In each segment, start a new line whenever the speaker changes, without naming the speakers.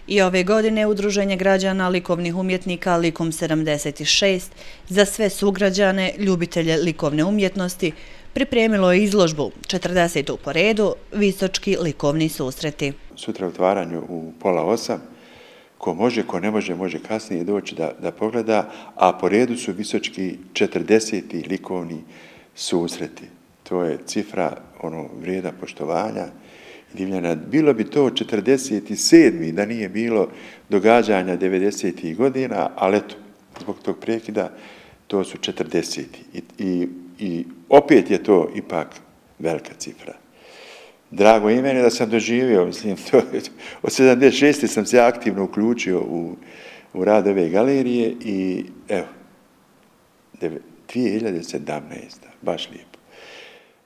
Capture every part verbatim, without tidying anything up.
I ove godine Udruženje građana likovnih umjetnika Likom sedamdeset šest za sve sugrađane, ljubitelje likovne umjetnosti, pripremilo je izložbu četrdesetu po redu Visočki likovni susreti.
Sutra otvaranju u pola osam, ko može, ko ne može, može kasnije doći da, da pogleda, a po redu su Visočki četrdeseti likovni susreti. To je cifra ono vrijeda poštovanja i divljena. Bilo bi to četrdeset sedmi da nije bilo događanja devedesetih godina, ali eto, zbog tog prekida to su četrdeseti. I, i, i opet je to ipak velika cifra. Drago i meni da sam doživio, mislim, to, od sedamdeset šeste sam se aktivno uključio u, u rad ove galerije i evo, dvije hiljade sedamnaeste. baš lijepo.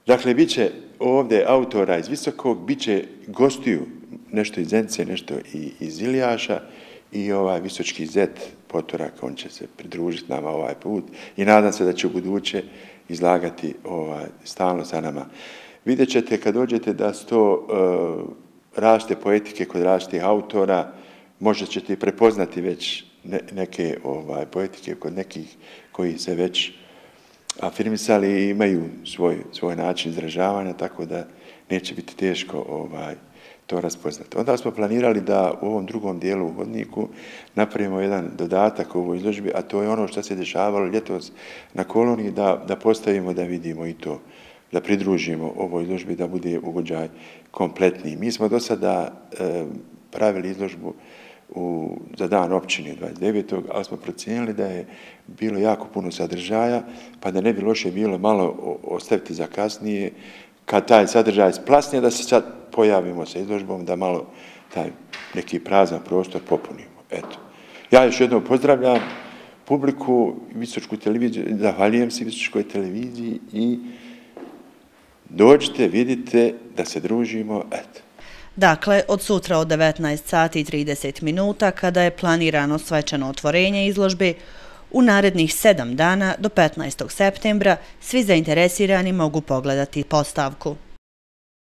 Dakle, bit će ovdje autora iz Visokog, bit će gostiju nešto iz Zenice, nešto i iz Ilijaša i ovaj Visočki zet Potorak, on će se pridružiti nama ovaj put i nadam se da će u buduće izlagati ovaj, stalno sa nama. Vidjet ćete kad dođete da su to uh, različite poetike kod različitih autora, možda ćete i prepoznati već ne, neke ovaj, poetike kod nekih koji se već afirmisali i imaju svoj, svoj način izražavanja, tako da neće biti teško ovaj, to raspoznati. Onda smo planirali da u ovom drugom dijelu u hodniku napravimo jedan dodatak u ovoj izložbi, a to je ono što se dešavalo ljetos na koloniji, da, da postavimo da vidimo i to, da pridružimo ovoj izložbi, da bude ugođaj kompletniji. Mi smo do sada e, pravili izložbu u, za dan općine dvadeset devetog ali smo procijenili da je bilo jako puno sadržaja, pa da ne bi loše bilo malo ostaviti za kasnije, kad taj sadržaj splasne, da se sad pojavimo sa izložbom, da malo taj neki prazan prostor popunimo. Eto. Ja još jednom pozdravljam publiku, Visočku televiziju, zahvaljujem se Visočkoj televiziji i dođite, vidite da se družimo, eto.
Dakle, od sutra od devetnaest sati i trideset minuta, kada je planirano svečano otvorenje izložbe, u narednih sedam dana do petnaestog septembra svi zainteresirani mogu pogledati postavku.